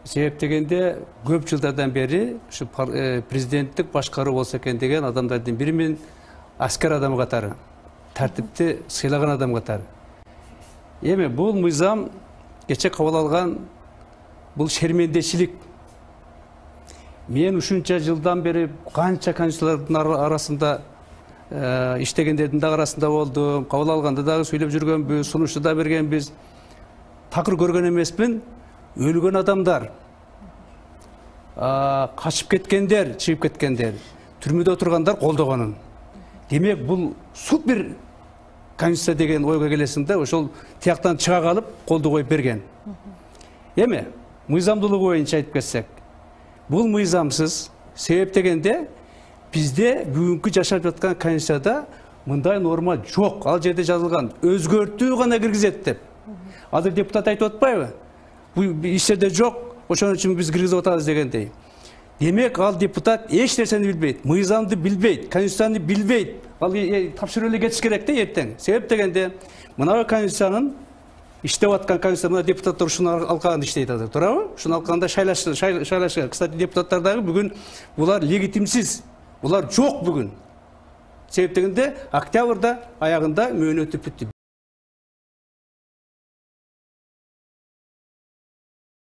Себеп дегенде көп жылдардан бери ушу президенттик башкаруу болсо экен деген адамдардын бири мен аскер адам катары, тартипти сыйлаган адам катары. Эми бул мыйзам кече кабыл алган бул шермендечилик. Мен ушунча жылдан бери канча конституциялардын арасында иштегендердин да арасында болдум, кабыл алганда дагы сүйлөп жүргөнбүз, сунушту да бергенбиз. Такыр көргөн эмеспин. Өлгөн адамдар, качып кеткендер, чыгып кеткендер, түрмөдө отургандар колдогонун. Демек, бул супер конституция деген ойго келесиң да, ошол тияктан чыга калып, колду коюп берген. Эми, мыйзамдуулугу боюнча айтып кетсек, бул мыйзамсыз. Себеп дегенде, бизде бүгүнкү жашап жаткан конституцияда мындай норма жок. Ал жерде жазылган, өзгөртүү гана киргизет деп. Азыр депутат айтып атпайбы? Бул иштерде жок, ошон үчүн биз киргизип атабыз дегендей. Демек, ал депутат эч нерсени билбейт, мыйзамды билбейт, конституцияны билбейт. Ал тапшырып эле кетиш керек да эртең. Себеп дегенде, мына конституциянын иштеп аткан конституция депутаттар ушуну алкагында иштейт азыр, туурабы? Ушуну алкагында шайлашкан. Кстати, депутаттар дагы бүгүн булар легитимсиз. Булар жок бүгүн. Себеп дегенде, октябрда аягында мөөнөтү бүттү.